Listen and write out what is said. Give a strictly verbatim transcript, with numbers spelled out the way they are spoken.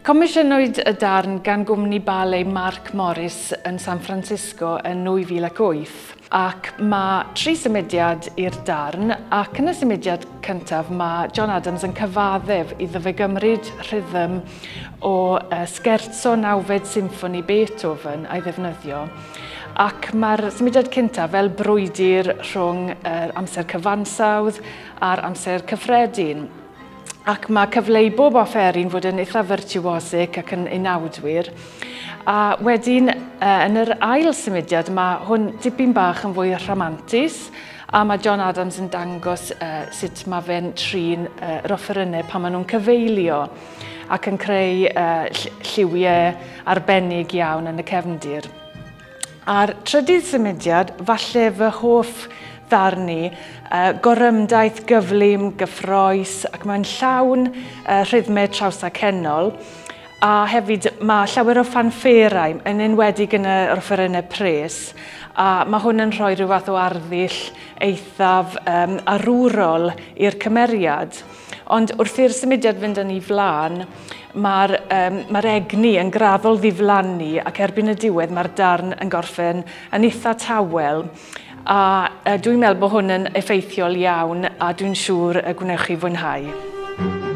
Comisiynwyd y darn gan gwmni ballet Mark Morris yn San Francisco yn nwy fil ac wyth, ac mae tri symudiad i'r darn, ac yn y symudiad cyntaf mae John Adams yn cyfaddef iddo fe gymryd rhythm o scherzo nawfed symffoni Beethoven a'i ddefnyddio. Ac mae'r symudiad cyntaf fel brwydr rhwng yr amser cyfansawdd a'r amser cyffredin. Ac mae cyfle i bob offeryn fod yn eitha virtuosic ac yn unawdwyr. A wedyn, yn yr ail symudiad, mae hwn dipyn bach yn fwy rhamantus, a mae John Adams yn dangos uh, sut mae fe'n trin uh, yr offerynnau pan maen nhw'n cyfeilio ac yn creu uh, lliwiau arbennig iawn yn y cefndir. A'r trydydd symudiad, falle fy hoff ddarn ni, uh, gorymdaith gyflym, gyffrous, ac mae'n llawn uh, rhythmau trawsacennol. A hefyd mae llawer o ffanfferau, yn enwedig yn yr offerynnau pres, a mae hwn yn rhoi rhyw fath o arddull eithaf um, arwrol i'r cymeriad. Ond wrth i'r symudiad fynd yn ei flaen, mae'r um, mae'r egni yn graddol ddiflannu, ac erbyn y diwedd mae'r darn yn gorffen yn eitha tawel. A dwi'n meddwl bod hwn yn effeithiol iawn, a dwi'n siŵr y gwnewch chi fwynhau.